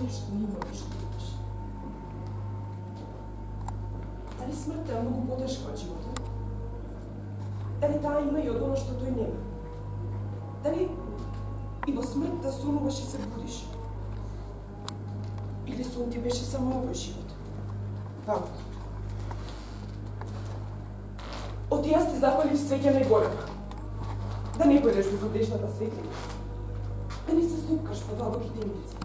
се што имаш, што имаш. Дали смртта е многу потешка од животот? Дали таа има и од оно што тој нема? Дали и во смртта сонуваш и се будиш? Или сон ти беше само овој живот? Вамко. Оти јас ти запалив свеќа најголема. Да не појдеш во водешната светлина. Да не се супкаш по длабоките имици.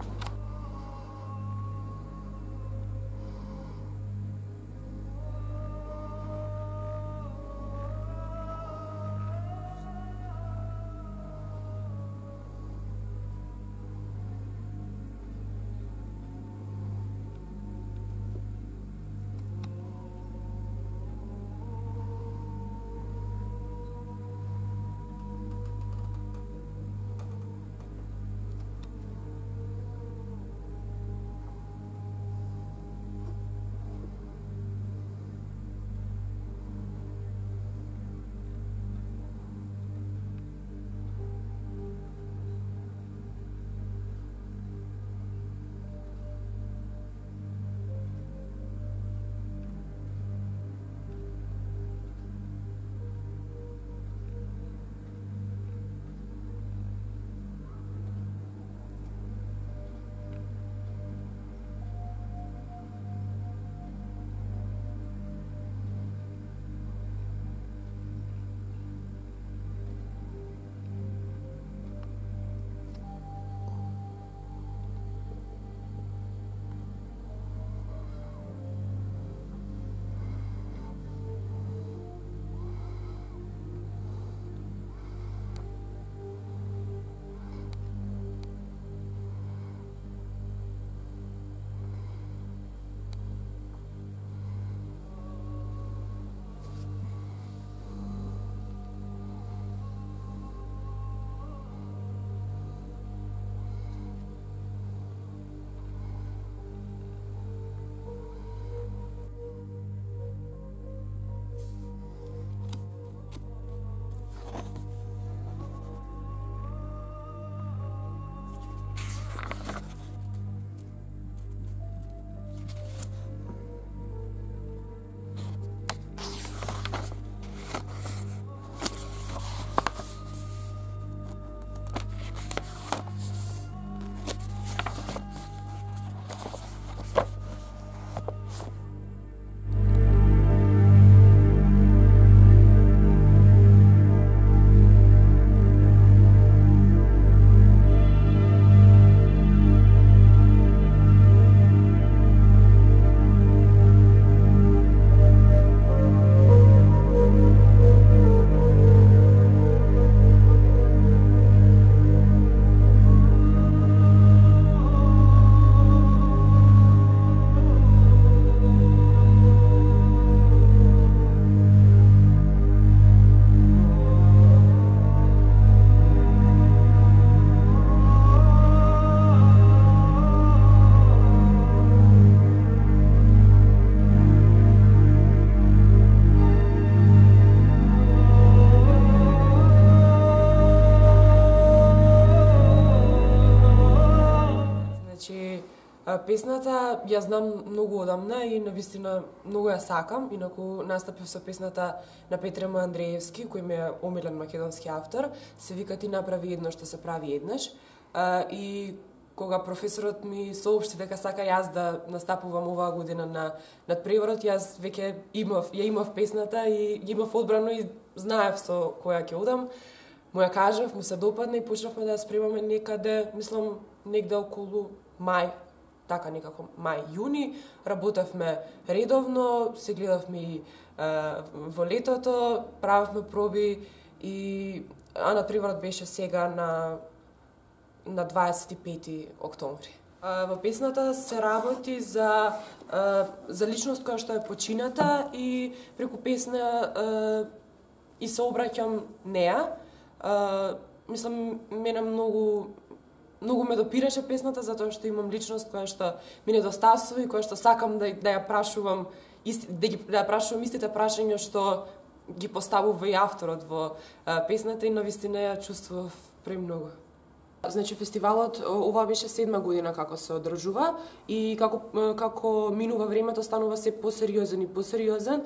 Песната ја знам многу одамна и навистина многу ја сакам, инаку настапив со песната на Петре Андреевски, кој ми е омилен македонски автор, се вика Ти направи едно што се прави еднаш. И кога професорот ми соопшти дека сака јас да настапувам оваа година на надпреварот, јас веќе имав песната и имав одбрано и знаев со која ќе одам. Му ја кажав, му се допадна и почнавме да ја спремаме некаде, мислам, негде околу мај, така некако мај-јуни, работевме редовно, се гледавме и во летото, правевме проби и надпреварот беше сега на 25 октомври. Во песната се работи за личност која што е почината и преку песна и се обраќам неа. Мислам, мене многу ме допираше песната затоа што имам личност која што ми недостасува и која што сакам да ја прашувам да ја прашувам истите прашања што ги поставува и авторот во песната и навистина ја чувствував премногу. Значи фестивалот ова беше 7 година како се одржува и како минува времето станува се посериозен и посериозен,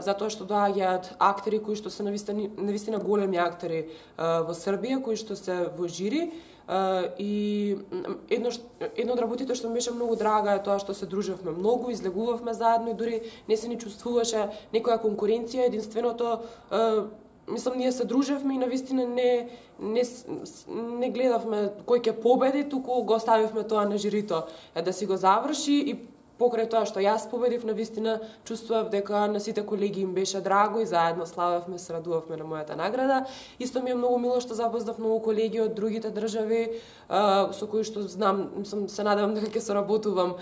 затоа што доаѓаат актери кои што се навистина големи актери во Србија, кои што се во жири. И едно од работите што ми беше многу драга е тоа што се дружевме многу, излегувавме заедно и дури не се ни чувствуваше некоја конкуренција, единственото мислам ние се дружевме и навистина не гледавме кој ќе победи, туку го оставивме тоа на жирито да си го заврши и покрај тоа што јас победив, навистина чувствував дека на сите колеги им беше драго и заедно славевме, се радувавме на мојата награда. Исто ми е многу мило што запознав многу колеги од другите држави со кои што знам, се надевам дека ќе соработувам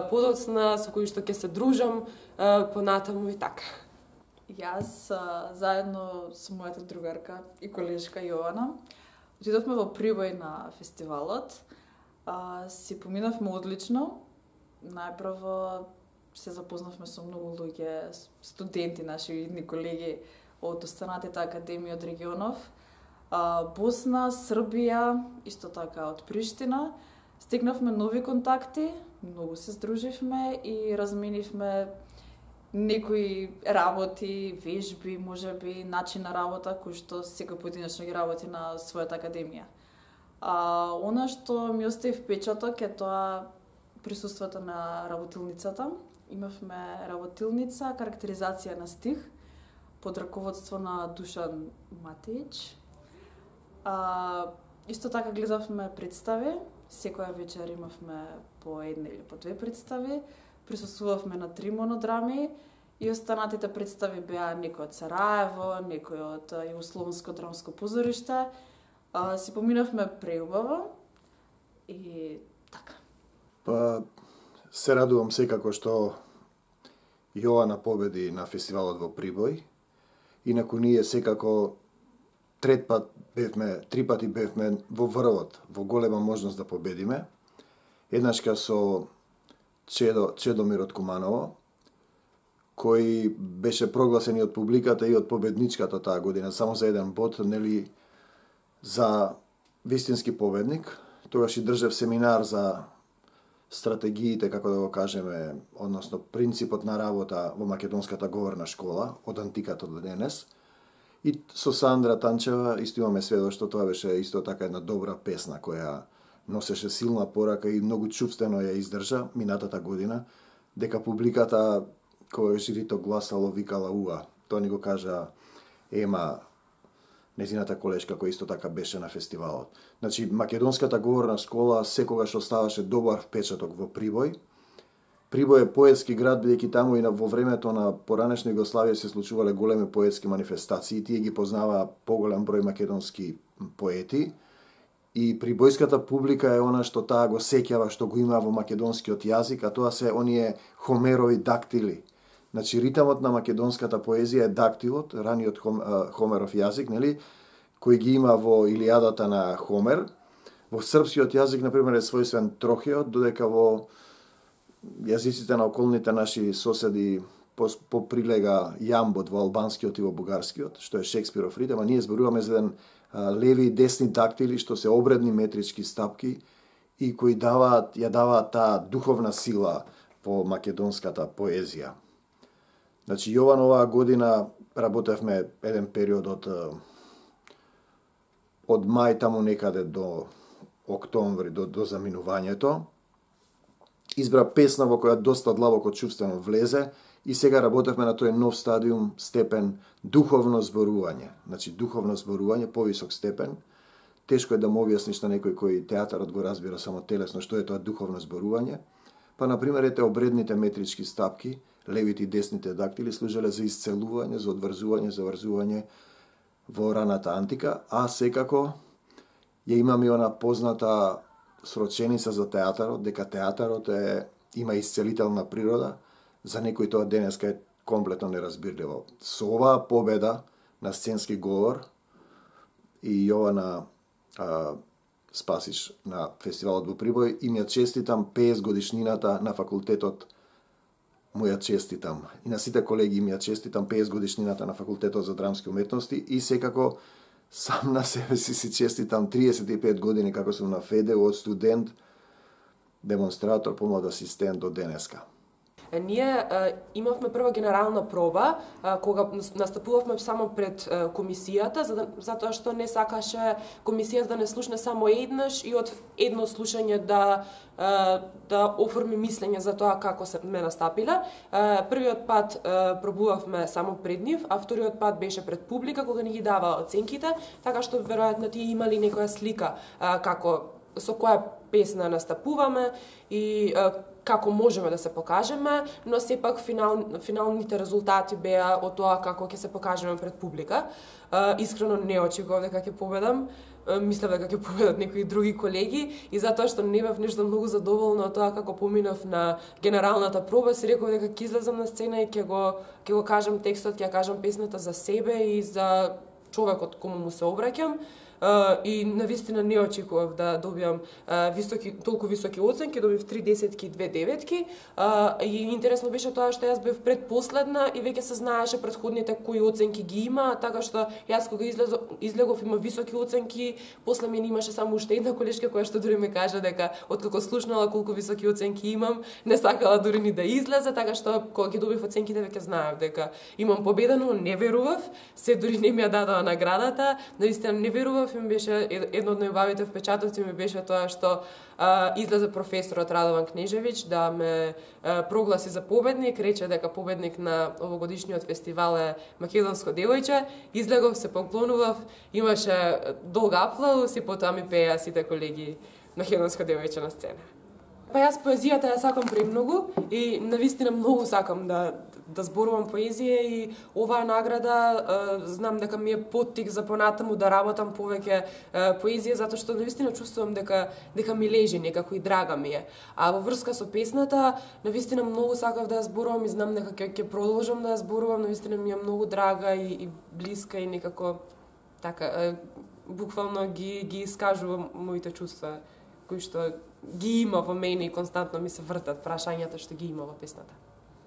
подоцна, со кои што ќе се дружам понатаму и така. Јас заедно со мојата другарка и колешка Јована отидовме во Прибој на фестивалот. Си поминавме одлично. Најпрво се запознавме со многу луѓе, студенти, наши идни колеги од останатите академии од регионов. Босна, Србија, исто така од Приштина. Стигнавме нови контакти, многу се здруживме и разменивме некои работи, вежби, можеби начин на работа кој што секој поединечно ги работи на својата академија. Она што ми остави впечаток е тоа присуството на работилницата. Имавме работилница, карактеризација на стих под раководство на Душан Матеич. Исто така гледавме представи, секоја вечер имавме по една или по две представи, присуствувавме на 3 монодрами и останатите представи беа некој од Сараево, некој од Југословенско драмско позориште. Си поминавме преубаво и така. Се радувам секако што Јована победи на фестивалот во Прибој. Инаку ние секако три пати бевме во врвот, во голема можност да победиме. Еднашка со Чедомир од Куманово, кој беше прогласен и од публиката и од победничката таа година, само за еден бод, нели, за вистински победник. Тогаш и држав семинар за стратегиите, како да го кажеме, односно принципот на работа во македонската говорна школа, од антиката до денес. И со Сандра Танчева исто имаме сведоштво, тоа беше исто така една добра песна која носеше силна порака и многу чувствено ја издржа минатата година, дека публиката кој жирито гласало викала уа. Тоа ни го кажа Ема, незината колешка која исто така беше на фестивалот. Значи, македонската говорна школа секогаш оставаше добар впечаток во Прибој. Прибој е поетски град, бидејќи таму и во времето на поранешна Југославија се случувале големи поетски манифестации, тие ги познаваа поголем број македонски поети. И прибојската публика е она што таа го сеќава, што го има во македонскиот јазик, а тоа се оние Хомерови дактили. Значи, ритамот на македонската поезија е дактилот, раниот Хомеров јазик, нели, кој ги има во Илијадата на Хомер. Во српскиот јазик, например, е својствен трохеот, додека во јазиците на околните наши соседи поприлега јамбот во албанскиот и во бугарскиот, што е Шекспиров ритам, а ние зборуваме за еден леви и десни дактили, што се обредни метрички стапки и кои ја даваат таа духовна сила во македонската поезија. Значи, Јован оваа година работевме еден период од мај таму некаде до октомври, до заминувањето. Избра песна во која доста длабоко чувствено влезе и сега работевме на тој нов стадиум, степен духовно зборување. Значи, духовно зборување, повисок степен. Тешко е да му објасниш на некој кој театарот го разбира само телесно што е тоа духовно зборување. Па, например, ете обредните метрички стапки, левите и десните дактили служеле за исцелување, за одврзување, за врзување во раната антика, а секако ја имаме она позната сроченица за театарот, дека театарот има исцелителна природа, за некој тоа денеска е комплетно неразбирливо. Со оваа победа на сценски говор и Јована Спасиш на фестивалот во Прибој, им ја честитам 50 годишнината на факултетот, му ја честитам. И на сите колеги им ја честитам 50 годишнината на факултетот за драмски уметности и секако сам на себе си честитам 35 години како сум на ФЕДЕ, од студент, демонстратор, помлад асистент до денеска. Ние имавме прва генерална проба, кога настапувавме само пред комисијата, затоа што не сакаше комисијата да не слушне само еднаш и од едно слушање да оформи мислење за тоа како се ме настапиле. Првиот пат пробувавме само пред нив, а вториот пат беше пред публика, кога ни ги дава оценките, така што веројатно тие имали некоја слика како со која песна настапуваме и како можеме да се покажеме, но сепак финалните резултати беа од тоа како ќе се покажеме пред публика. Искрено не очекував дека ќе победам. Мислев дека ќе победат некои други колеги и затоа што не бев нешто многу задоволна од тоа како поминав на генералната проба, си реков дека ќе излезам на сцена и ќе го кажам текстот, ќе ја кажам песната за себе и за човекот кому му се обраќам. И навистина не очекував да добиам толку високи оценки, добив 3 десетки и 2 деветки. И интересно беше тоа што јас бев предпоследна и веќе се знаеше претходните кои оценки ги има, така што јас кога излегов има високи оценки, после мене имаше само уште една колешка која што дури ме кажа дека откако слушнала колку високи оценки имам, не сакала дури ни да излезе, така што кога ги добив оценките веќе знаев дека имам победа, но не верував, се дури не ми ја дадоа наградата, навистина не верував. Ми беше едно од најубавите впечатоци ми беше тоа што излезе професорот Радован Кнежевич да ме прогласи за победник, рече дека победник на овогодишниот фестивал е македонско девојче. Излегов, се поклонував, имаше долг аплауз и потоа ми пееа сите колеги македонско девојче на сцена. Па јас поезијата ја сакам премногу и навистина многу сакам да зборувам поезија и оваа награда знам дека ми е поттик за понатаму да работам повеќе поезија, затоа што навистина чувствувам дека ми лежи некако и драга ми е. А во врска со песната, навистина многу сакав да ја зборувам и знам дека ќе продолжам да ја зборувам, навистина ми е многу драга и блиска и некако така буквално ги искажувам моите чувства кои што ги има во мене и константно ми се вртат прашањата што ги има во песната.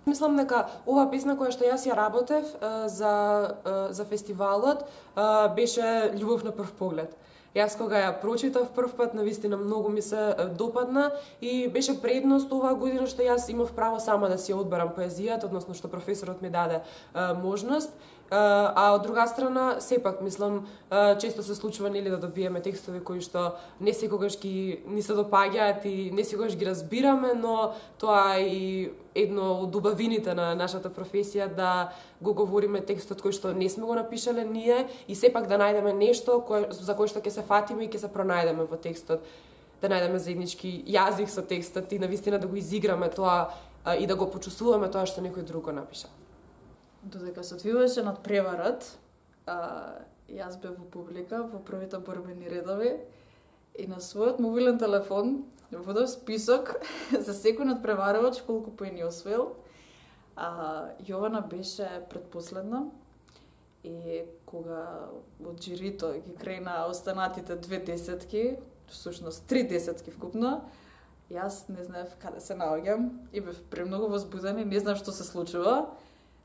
Мислам дека оваа песна која што јас ја работев за фестивалот беше Љубов на прв поглед. Јас кога ја прочитав прв пат, навистина многу ми се допадна и беше предност оваа година што јас имав право сама да си одберам поезијата, односно што професорот ми даде можност. А од друга страна, сепак, мислам, често се случува нели да добиеме текстови кои што не секогаш ни се допаѓаат и не секогаш ги разбираме, но тоа е и едно од убавините на нашата професија да го говориме текстот кој што не сме го напишале ние и сепак да најдеме нешто за кое што ќе се фатиме и ќе се пронајдеме во текстот, да најдеме заеднички јазик со текстот и навистина да го изиграме тоа и да го почувствуваме тоа што некој друг го напишал. Додека се одвиваше надпреварот, јас бев во публика во првите борбени редови и на својот мобилен телефон водев список за секој надпреварувач колку поени освоил. Јована беше предпоследна и кога од жирито ги крена останатите 2 десетки, всушност 3 десетки вкупно, јас не знаев каде се наоѓам и бев премногу возбудена и не знам што се случува.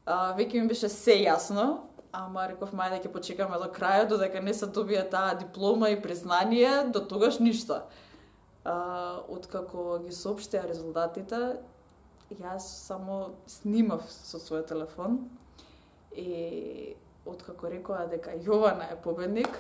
Веќе ми беше се јасно, ама реков мај да ќе почекаме до крајот, додека не се добија таа диплома и признание, до тогаш ништо. Откако ги соопштија резултатите, јас само снимав со својот телефон и откако рекоа дека Јована е победник,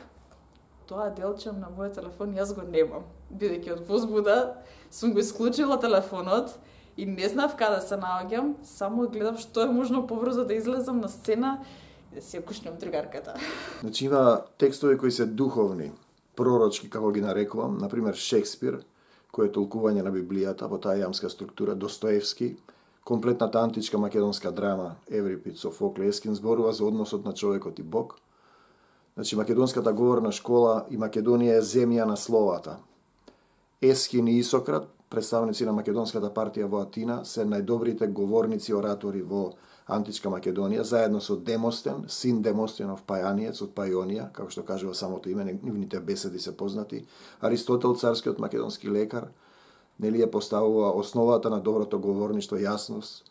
тоа делче на мојот телефон јас го немам. Бидејќи од возбуда сум го исклучила телефонот и не знав каде се наоѓам, само гледав што е можно побрзо да излезам на сцена и да си ја кушнем другарката. Значи има текстови кои се духовни, пророчки, како ги нарекувам, например Шекспир, кој е толкување на Библијата во таа јамска структура, Достоевски, комплетната античка македонска драма, Еврипид, Софокле, Ескин зборува за односот на човекот и Бог. Значи македонската говорна школа и Македонија е земја на словата. Ескин и Исократ, представници на македонската партија во Атина, се најдобрите говорници оратори во античка Македонија, заедно со Демостен, син Демостенов Пајаниец од Пајонија, како што кажува самото име, нивните беседи се познати. Аристотел, царскиот македонски лекар, нели ја поставува основата на доброто говорништво, јасност,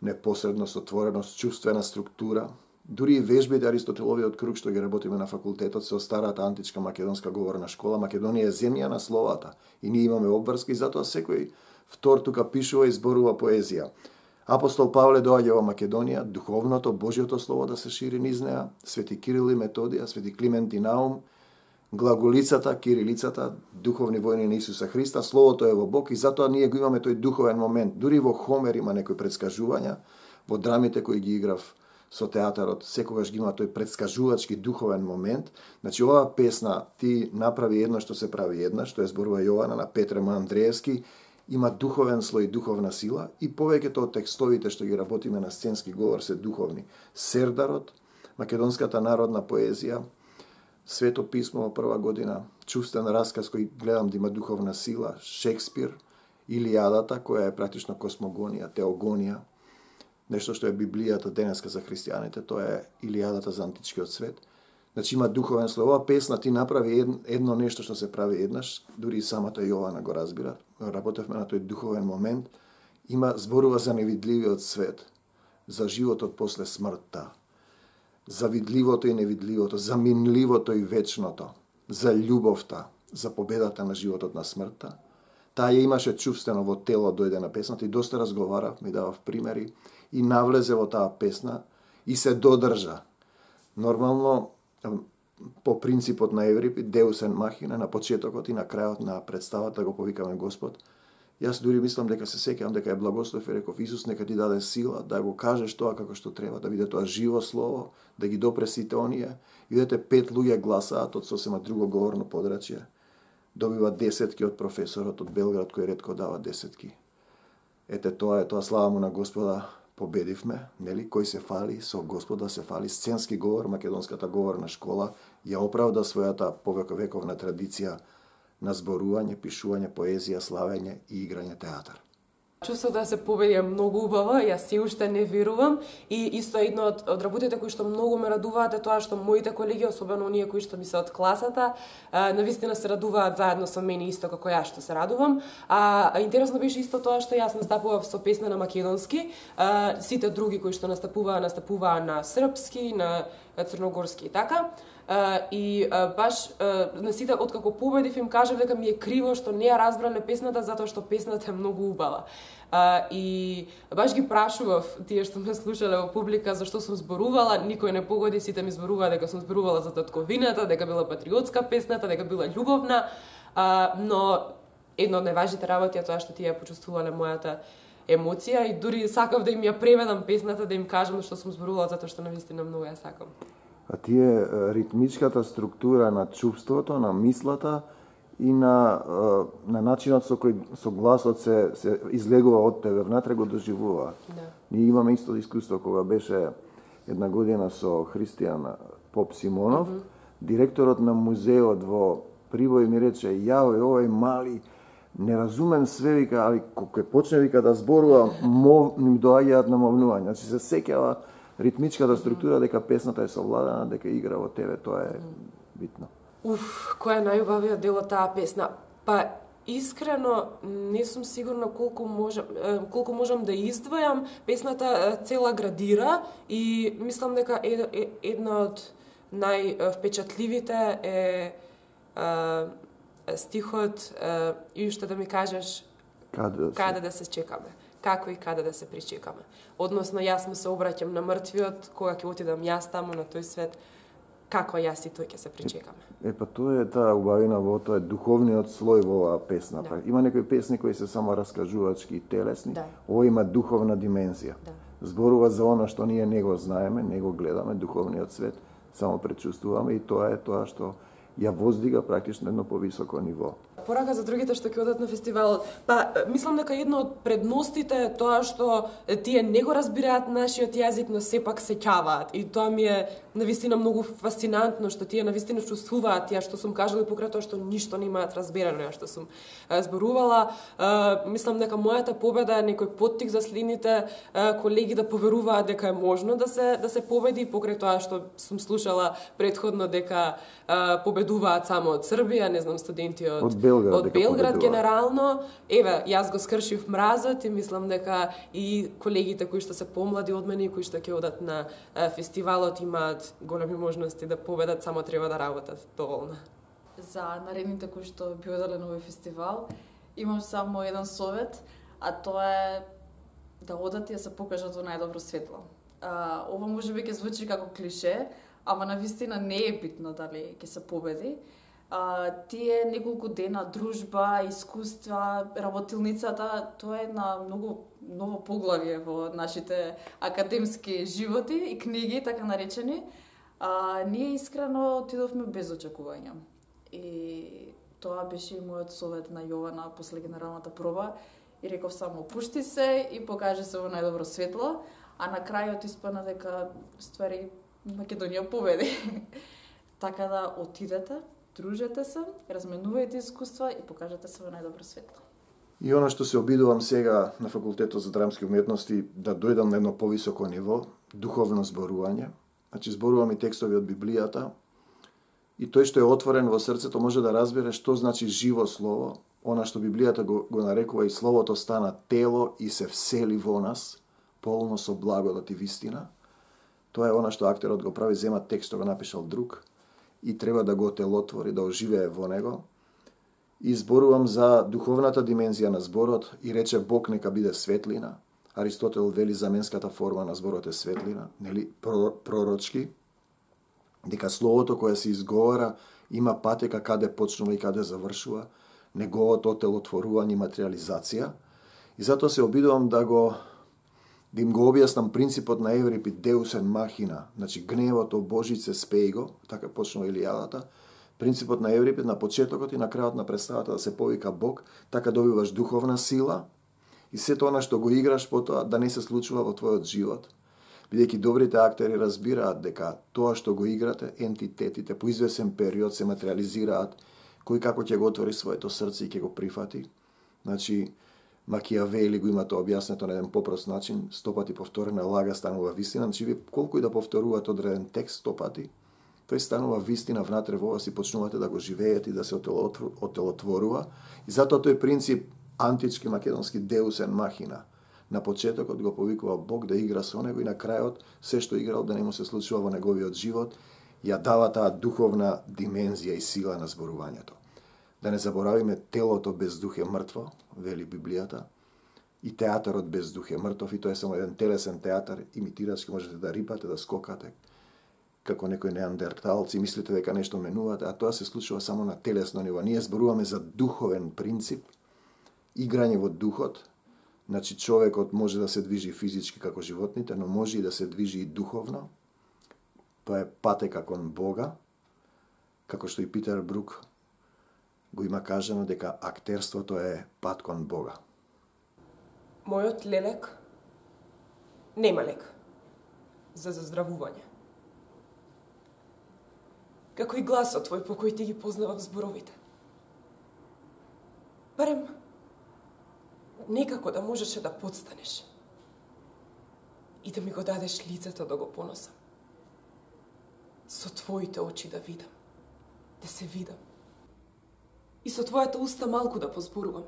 непосредност, отвореност, чувствена структура, Дури и вежбите Аристотеловиот круг што ги работиме на факултетот со старата античка македонска говорна школа. Македонија е земја на словата и ние имаме обврски, затоа секој втор тука пишува и зборува поезија. Апостол Павле доаѓа во Македонија, духовното, Божјото слово да се шири низ неа, свети Кирил и Методија, свети Климент и Наум, глаголицата, кирилицата, духовни војни на Исуса Христа, словото е во Бог и затоа ние го имаме тој духовен момент. Дури во Хомер има некои предскажувања, во драмите кои ги играв со театарот, секогаш ги има тој предскажувачки духовен момент. Значи, оваа песна ти направи едно што се прави една, што е зборува Јована на Петр М. Андреевски, има духовен слој, духовна сила и повеќето од текстовите што ги работиме на сценски говор се духовни. Сердарот, македонската народна поезија, Свето писмо во прва година, чувствен расказ кој гледам да има духовна сила, Шекспир, Илијадата, која е практично космогонија, теогонија, нешто што е Библијата денеска за христијаните, тоа е Илијадата за античкиот свет. Значи има духовен слој. Ова песна ти направи едно нешто што се прави еднаш, дури и самата Јована го разбира. Работевме на тој духовен момент. Има зборува за невидливиот свет, за животот после смртта, за видливото и невидливото, за минливото и вечното, за љубовта, за победата на животот на смртта. Таа ја имаше чувствено во тело, дојде на песната и доста разговарав, ми давав примери и навлезе во таа песна и се додржа. Нормално, по принципот на Еврипид, Deus en machina, на почетокот и на крајот на представата го повикаме Господ. Јас дури мислам дека се сеќавам дека е благослов и реков Исус нека ти даде сила да го кажеш тоа како што треба, да биде тоа живо слово, да ги допре сите оние. Видете, 5 луѓе гласаат од сосема друго говорно подрачје. Добива десетки од професорот од Белград кој ретко дава десетки. Ете тоа е тоа, слава му на Господа, победивме, нели, кој се фали со Господа се фали, сценски говор, македонската говорна школа ја оправда својата повековна традиција на зборување, пишување, поезија, славење и играње театар. Чувството да се победи е многу убаво, јас си уште не верувам и исто едно од работите кои што многу ме радуваат е тоа што моите колеги, особено оние кои што ми се од класата, навистина се радуваат заедно со мене исто како јас што се радувам. Интересно беше исто тоа што јас настапував со песна на македонски, сите други кои што настапуваа на српски, на црногорски и така. И баш на сите откако победив им кажав дека ми е криво што не ја разбрале песната затоа што песната е многу убава. И баш ги прашував тие што ме слушале во публика зашто сум зборувала, никој не погоди, сите ми зборуваа дека сум зборувала за татковината, дека била патриотска песната, дека била љубовна, но едно од најважните работи е тоа што тие ја почувствувале мојата емоција и дури сакав да им ја преведам песната, да им кажам што сум зборувала затоа што навистина многу ја сакам. А тие ритмичката структура на чувството, на мислата и на начинот со кој со гласот се излегува од тебе внатре го доживува. Да. Ние имаме исто искуство кога беше една година со Христијан Поп Симонов, директорот на музеот во Прибој ми рече: "Јао, овој мали не разумем све, вика, али кога почне вика да зборува, ним доаѓаат намовнувања." Значи се сеќава ритмичката структура дека песната е совладана, дека игра во тебе, тоа е битно. Кој е најубавиот дел од таа песна? Па искрено не сум сигурна колку можам да издвојам. Песната цела градира и мислам дека една од највпечатливите е стихот и уште да ми кажеш каде да се чекаме. Како и каде да се причекаме. Односно, јас му се обраќам на мртвиот, кога ќе отидам јас таму на тој свет, како јас и тој ќе се причекаме. Па тоа е таа убавина во тоа, е духовниот слој во оваа песна. Да. Има некои песни кои се само раскажувачки и телесни, Да. ова има духовна димензија. Да. Зборува за она што ние не го знаеме, не го гледаме, духовниот свет, само пречувствуваме и тоа е тоа што ја воздига практично едно повисоко ниво. Порака за другите што ќе одат на фестивалот. Па, мислам дека едно од предностите е тоа што тие не го разбираат нашиот јазик, но сепак се ќаваат. И тоа ми е навистина многу фасцинантно, што тие навистина чувствуваат ја што сум кажала и покрај тоа што ништо не имаат разберано ја што сум зборувала. Мислам дека мојата победа е некој поттик за следните колеги да поверуваат дека е можно да се победи, покрај тоа што сум слушала претходно дека победуваат само од Србија, не знам, студенти од Белград. Од дека Белград победува. генерално, еве, јас го скршив мразот и мислам дека и колегите кои што се помлади од мене и кои што ќе одат на фестивалот имаат големи можности да победат, само треба да работат доволно. За наредните кои што би одале на овој фестивал, имам само еден совет, а тоа е да одат и да се покажат во најдобро светло. Ова можеби ќе звучи како клише, ама навистина не е битно дали ќе се победи. Тие неколку дена дружба, искуства, работилницата, тоа е на многу ново поглавје во нашите академски животи и книги, така наречени. Ние искрено отидовме без очекувања. И тоа беше и мојот совет на Јована после генералната проба. И реков само, пушти се и покажи се во најдобро светло, а на крајот испадна дека ствари Македонија победи. Така да отидете, дружете се, разменувајте искуства и покажете се во најдобро светло. И она што се обидувам сега на факултетот за драмски уметности да дојдам на едно повисоко ниво, духовно зборување. Значи зборувам и текстови од Библијата и тој што е отворен во срцето може да разбере што значи живо слово, она што Библијата го нарекува и словото стана тело и се всели во нас, полно со благодат и вистина. Тоа е она што актерот го прави, зема текст што го напишал друг и треба да го телотвори, да оживее во него. И зборувам за духовната димензија на зборот и рече Бог нека биде светлина. Аристотел вели заменската форма на зборот е светлина, нели пророчки, дека словото кое се изговара има патека каде почнува и каде завршува, неговото телотворување и материализација. И затоа се обидувам да им го објаснам принципот на Еврипид Deus en machina, значи гневото Божице спеј го, така почнува Илијадата. Принципот на Еврипид на почетокот и на крајот на представата да се повика Бог, така добиваш духовна сила и сето она што го играш потоа да не се случува во твојот живот. Бидејќи добрите актери разбираат дека тоа што го играте, ентитетите по извесен период се материализираат, кој како ќе го отвори своето срце и ќе го прифати. Значи, Макијавели го има тоа објаснето на еден попрост начин, 100 пати повторена лага станува вистина, значи вие колку и да повторувате одреден текст 100 пати, тој станува вистина внатре во вас и почнувате да го живеете и да се отелотворува. И затоа тој принцип антички македонски Deus en machina. На почетокот го повикува Бог да игра со него и на крајот се што играл да не му се случува во неговиот живот, ја дава таа духовна димензија и сила на зборувањето. Да не заборавиме телото без дух е мртво, вели Библијата, и театарот без дух е мртов, и тоа е само еден телесен театар, имитирачки можете да рипате, да скокате, како некои неандерталци, мислите дека нешто менувате, а тоа се случува само на телесно ниво. Ние зборуваме за духовен принцип, играње во духот, значи човекот може да се движи физички како животните, но може и да се движи и духовно. Тоа е патека кон Бога, како што и Питер Брук го има кажано дека актерството е пат кон Бога. Мојот лелек нема лек за заздравување. Како и гласот твој по кој ти ги познавав зборовите. Барем некако да можеше да подстанеш и да ми го дадеш лицето да го поносам. Со твоите очи да видам, да се видам. И со твојата уста малку да позборувам.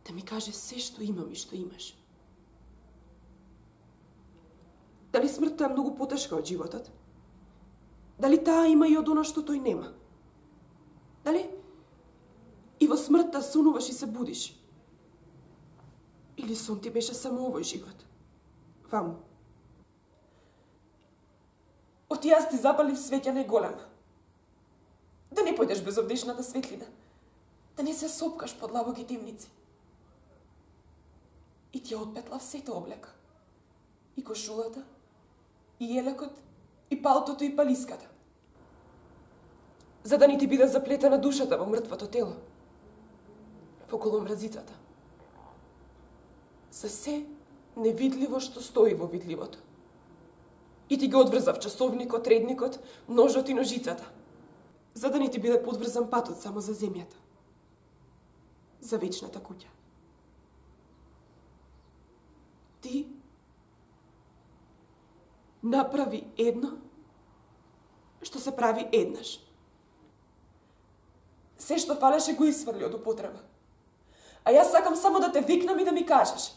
Да ми кажеш се што имам и што имаш. Дали смртта е многу потешка од животот? Дали таа има и од она што тој нема? Дали и во смртта сонуваш и се будиш? Или сон ти беше само овој живот? Ваму. Оти јас ти запалив свеќа најголема. Да не појдеш без овдешната светлина. Да не се сопкаш под лабоки темници. И ти ја отпетлав сето облека. И кошулата, и елекот, и палтото, и палиската. За да не ти биде заплетена душата во мртвото тело. Околу мразицата. За се невидливо што стои во видливото. И ти го одврзав часовникот, редникот, ножот и ножицата. За да не ти биде подврзан патот само за земјата. За вечната куќа. Ти направи едно што се прави еднаш. Се што фалеше го исфрли од употреба. А јас сакам само да те викнам и да ми кажеш.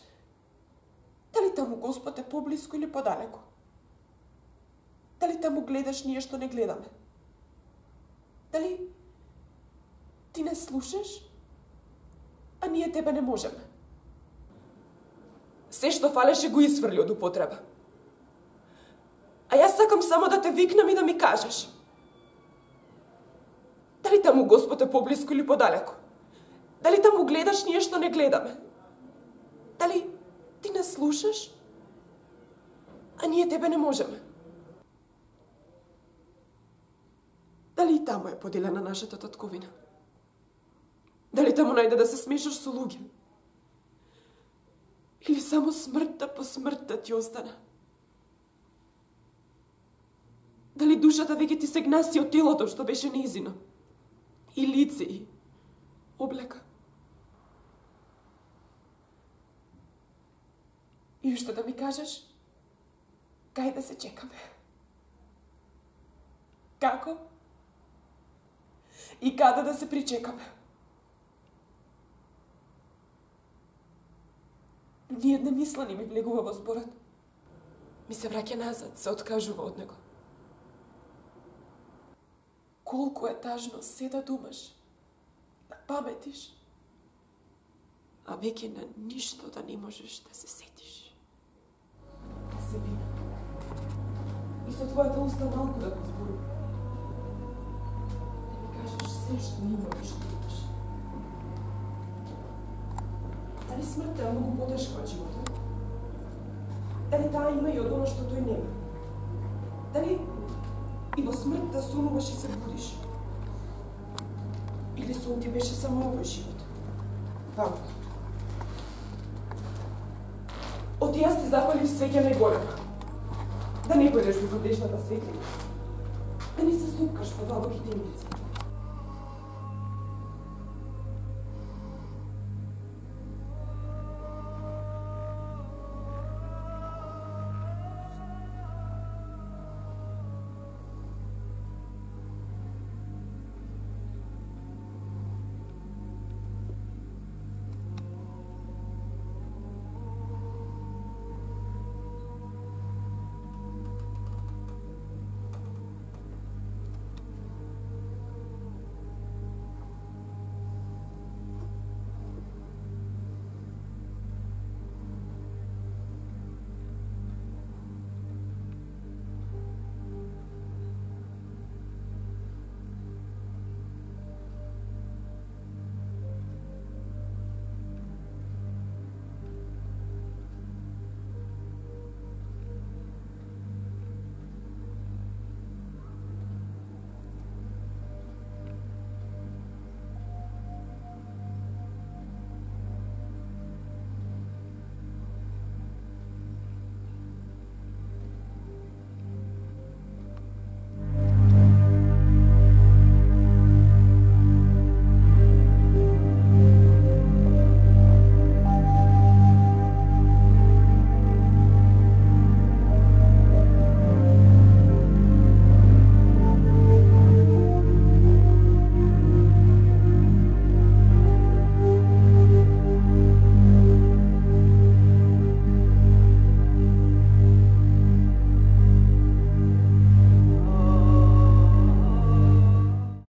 Дали таму Господ е поблиску или подалеку? Дали таму гледаш ние што не гледаме? Дали ти не слушаш, а ние тебе не можеме? Се што фалеше го исфрли од употреба. А јас сакам само да те викнам и да ми кажеш. Дали таму Господ е поблиску или подалеку? Дали таму гледаш ние што не гледаме? Дали ти не слушаш, а ние тебе не можеме? Дали и таму е поделена нашата татковина? Дали таму најде да се смешаш со луѓе? Или само смртта по смртта ти остана? Дали душата веќе ти се гнаси од телото што беше нејзино? И лице, и облека? И уште да ми кажеш, кај да се чекаме? Како? И каде да се причекаме? Но ниедна мисла не ми влегува во зборот. Ми се враќа назад, се откажува од него. Колку е тажно се да думаш, да паметиш, а веќе на ништо да не можеш да се сетиш. Себина. И со твојата уста малку да го зборувам. Да ми кажеш се што имаш и што имаш. Дали смртта е многу потешка од животот? Дали таа има и од оно што тој нема? Дали и во смртта сонуваш и се будиш? Или сон ти беше само овој живот? Вамко. Оти јас ти запалив свеќа најголема. Да не појдеш во задешната светлина. Да не се супкаш по длабоките имици.